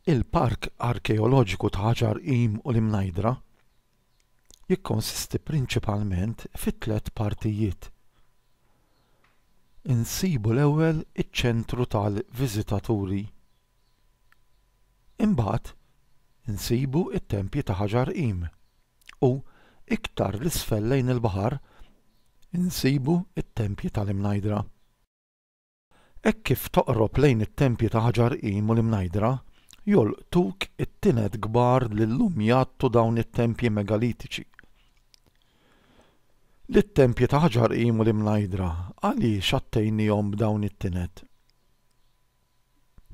Il-Park Arkeoloġiku ta' Ħaġar Qim u l-Imnajdra jikkonsisti prinċipalment fi tlett partijiet. Insibu l-ewwel iċ-ċentru tal-viżitaturi. Imbagħad insibu t-tempji ta' Ħaġar Qim u, iktar 'l isfel lejn il-baħar, insibu t-tempji tal-Imnajdra. Hekk kif toqrob lejn it-tempji ta' Ħaġar Qim u l-Imnajdra, jolqtuk it-tined kbar li llum jgħattu dawn it-tempji megalitiċi. Lit-tempji ta' Ħaġar Qim u l-Imnajdra għaliex għattejniehom b'dawn it-tined?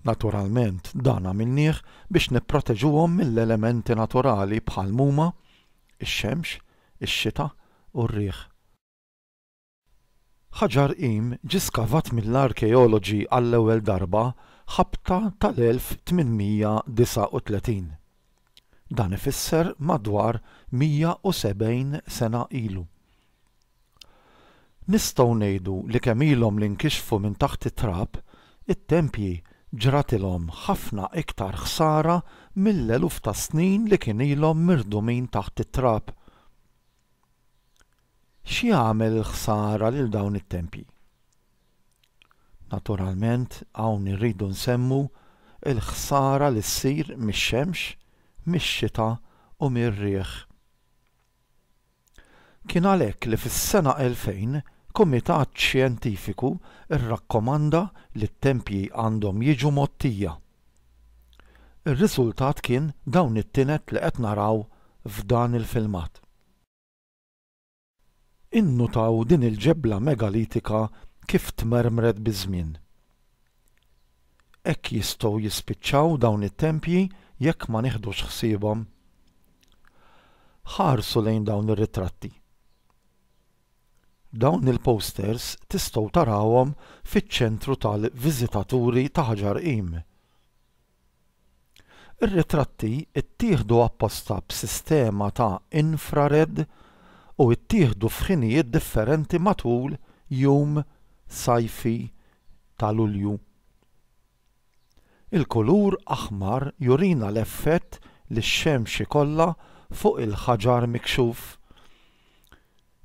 Naturalment dan għamilnieh biex nipproteġuhom mill-elementi naturali bħal m'huma x-xemx, ix-xita u r-riħ. Ħaġar Qim ġie skavat mill-arkeoloġi għall-ewwel darba ħabta tal-1839. Dan ifisser madwar 170 sena ilu. Nistgħu ngħidu li kemm ilhom li nkixfu minn taħt it-trab, it-tempji ġratilhom ħafna iktar ħsara mill-eluf ta' snin li kien ilhom mirdumin taħt it-trab. X'jagħmel il-ħsara lil dawn it-tempji? Naturalment hawn irridu nsemmu l-ħsara li ssir mix-xemx, mix-xita u mir-riħ. Kien għalhekk li fis-sena 2000 kumitat xjentifiku rrakkomanda li t-tempji għandhom jiġu mgħottija. Ir-riżultat kien dawn it-tined li qed naraw f'dan il-filmat. Innutaw din il-ġebla megalitika kif tmermret biż-żmien. Hekk jistgħu jispiċċaw dawn it-tempji jekk ma nieħdux ħsiebhom. Ħarsu lejn dawn ir-ritratti. Dawn il-posters tistgħu tarawhom fiċ-ċentru tal-viżitaturi ta' Ħaġar Qim. Ir-ritratti ttieħdu apposta b'sistema ta' infrared u ttieħdu f'ħinijiet differenti matul jum sajfi ta' Lulju. Il-kulur aħmar jurina l-effett li x-xemx ikollha fuq il-ħaġar mikxuf.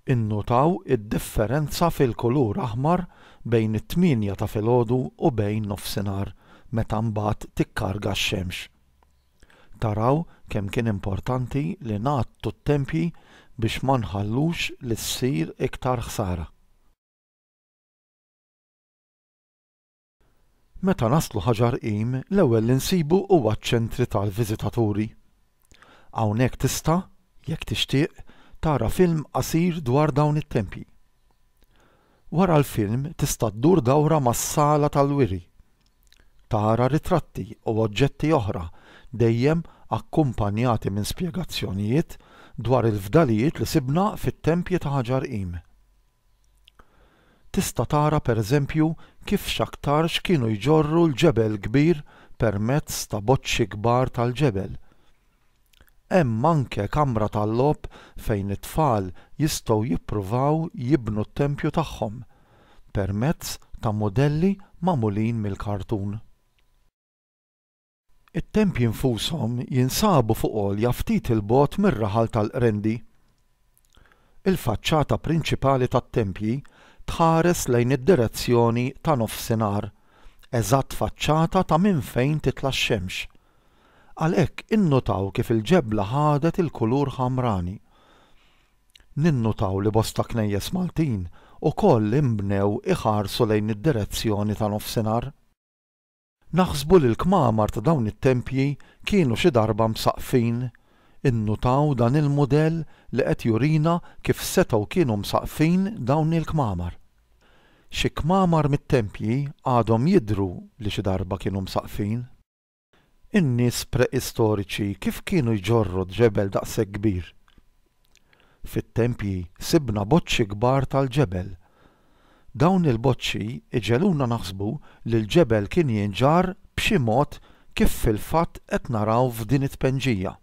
Innutaw id-differenza fil-kulur aħmar bejn it-tmienja ta' filgħodu u bejn nofsinhar meta mbagħad tikkarga x-xemx. Taraw kemm kien importanti li ngħattu t-tempji biex ma nħallux li ssir iktar ħsara. Meta naslu Ħaġar Qim, l-ewwel li nsibu huwa ċ-ċentri tal-viżitaturi. Hawnhekk tista', jekk tixtieq, tara film qasir dwar dawn it-tempji. Wara l-film tista' ddur dawra mas-sala tal-wiri. Tara ritratti u oġġetti oħra, dejjem akkumpanjati minn spjegazzjonijiet dwar il-fdalijiet li sibna fit-tempji ta' Ħaġar Qim. Tista' tara pereżempju kif x'aktarx kienu jġorru l-ġebel kbir permezz ta' boċċi kbar tal-ġebel. Hemm anke kamra tal-logħob fejn it-tfal jistgħu jippruvaw jibnu t-tempju tagħhom permezz ta' mudelli magħmulin mill-kartun. It-tempji nfushom jinsabu fuq għolja ftit 'il bogħod mir-raħal tal-Qrendi. Il-faċċata prinċipali tat-tempji tħares lejn id-direzzjoni ta' nofsinhar, eżatt faċċata ta' minn fejn titla' x-xemx. Għalhekk innutaw kif il-ġebla ħadet il-kulur ħamrani. Ninnutaw li bosta knejjes Maltin ukoll inbnew iħarsu lejn id-direzzjoni ta' nofsinhar. Naħsbu li l-kmamar ta' dawn it-tempji kienu xi darba msaqqfin. Innutaw dan il-mudell li qed jurina kif setgħu kienu msaqqfin dawn il-kmamar. Xi kmamar mit-tempji għadhom jidhru li xi darba kienu msaqqfin. In-nies preistoriċi kif kienu jġorru ġebel daqshekk kbir? Fit-tempji sibna boċċi kbar tal-ġebel. Dawn il-boċċi jġegħluna naħsbu li l-ġebel kien jinġarr b'xi mod kif fil-fatt qed naraw f'din it-tpenġija.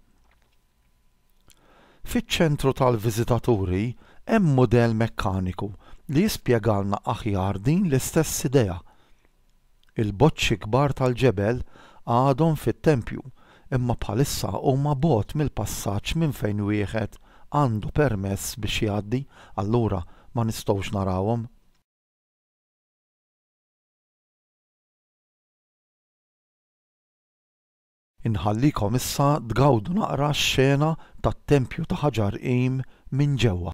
Fiċ-ċentru tal-viżitaturi hemm mudell mekkaniku li jispjegalna aħjar din l-istess idea. Il-boċċi kbar tal-ġebel għadhom fit-tempju imma bħalissa huma bogħod mill-passaġġ minn fejn wieħed għandu permess biex jgħaddi allura ma nistgħux narawhom. Inħallikom issa tgawdu naqra x-xena tat-tempju ta' Ħaġar Qim minn ġewwa.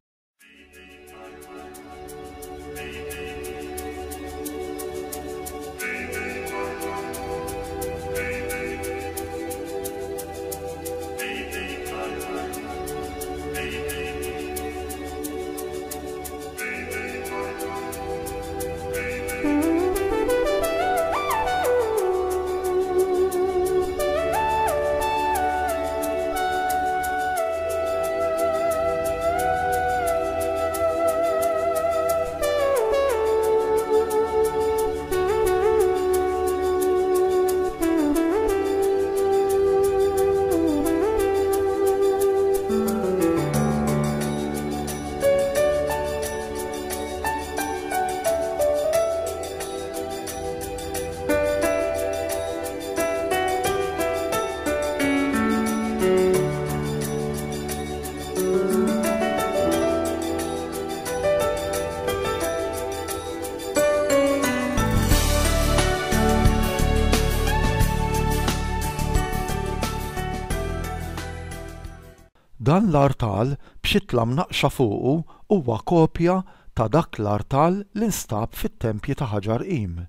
Dan l-artal b'xitla mnaqqxa fuqu huwa kopja ta' dak l-artal li nstab fit-tempji ta' Ħaġar Qim.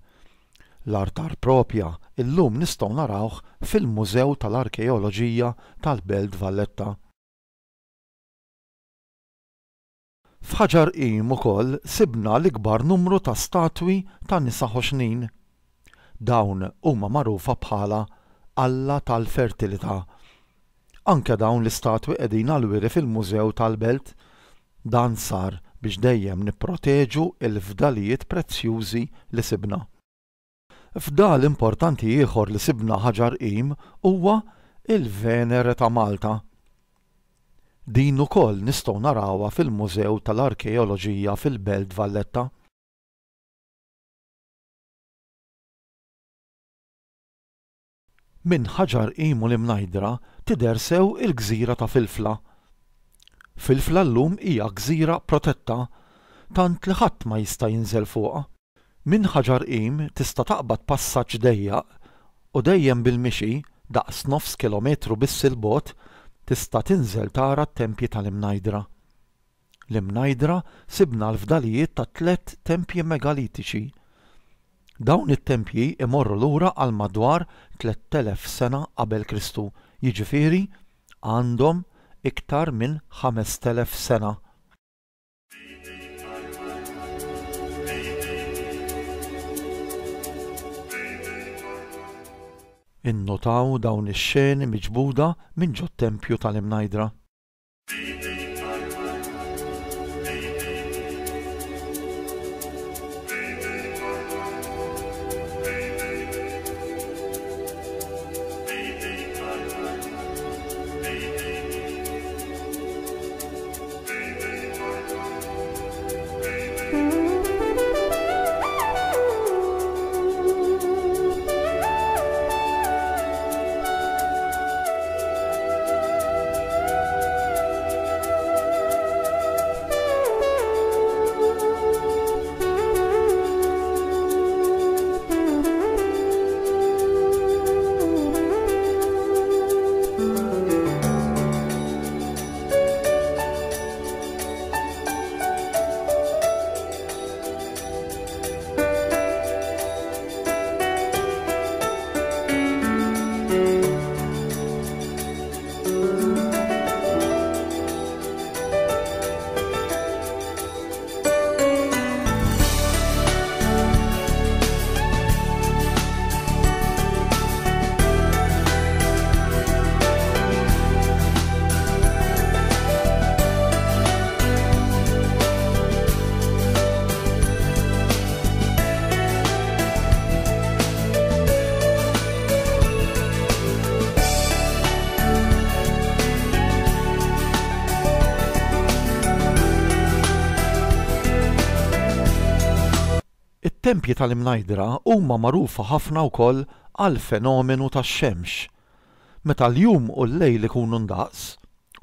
L-artar propja illum nistgħu narawh fil-Mużew tal-Arkeoloġija tal-Belt Valletta. F'Ħaġar Qim ukoll sibna l-ikbar numru ta' statwi ta' nisa ħoxnin. Dawn huma magħrufa bħala Alla tal-Fertilità. Anke dawn l-istatwi qegħdin għall-wiri fil-Mużew tal-Belt. Dan sar biex dejjem nipproteġu l-fdalijiet prezzjużi li sibna. Fdal importanti ieħor li sibna Ħaġar Qim huwa il-Venere ta' Malta. Din ukoll nistgħu narawha fil-Mużew tal-Arkeoloġija fil-Belt Valletta. Minn Ħaġar Qim u l-Imnajdra tidher sew il-gżira ta' Filfla. Filfla llum hija gżira protetta tant li ħadd ma jista' jinżel fuqha. Minn Ħaġar Qim tista' taqbad passaġġ dejjaq u dejjem bil-mixi, daqs nofs kilometru biss 'il bogħod, tista' tinżel tara t-tempji tal-Imnajdra. L-Imnajdra sibna l-fdalijiet ta' tlett tempji megalitiċi. Dawn it-tempji imorru lura għal madwar 3,000 sena qabel Kristu, jiġifieri għandhom iktar minn 5,000 sena. Innotaw dawn ix-xeni miġbuda minn ġot-tempju tal-Imnajdra. It-tempji tal-Imnajdra huma magħrufa ħafna wkoll għall-fenomenu tax-xemx. Meta l-jum u l-lejl ikunu ndaqs,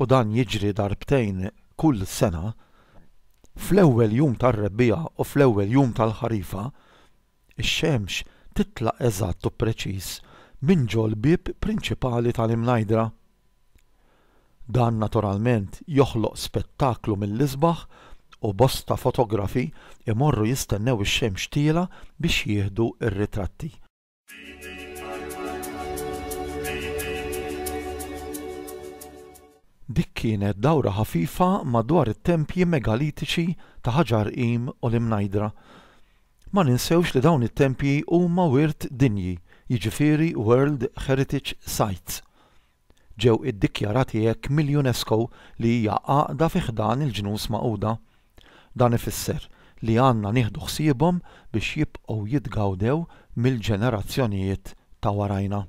u dan jiġri darbtejn kull sena, fl-ewwel jum tar-rebbiegħa u fl-ewwel jum tal-ħarifa, ix-xemx titla' eżatt u preċiż minn ġol-bieb prinċipali tal-Imnajdra. Dan naturalment joħloq spettaklu mill-isbaħ u bosta fotografi jmorru jistennew ix-xemx tielgħa biex jieħdu r-ritratti. Dik kienet dawra ħafifa madwar it-tempji megalitiċi ta' Ħaġar Qim u l-Imnajdra. Ma ninsewx li dawn it-tempji huma wirt dinji, jiġifieri World Heritage Sites. Ġew iddikjarati hekk mill-UNESCO li hija għaqda fi ħdan il-Ġnus Magħquda. Dan ifisser li għandna nieħdu ħsiebhom biex jibqgħu jitgawdew mill-ġenerazzjonijiet ta' warajna.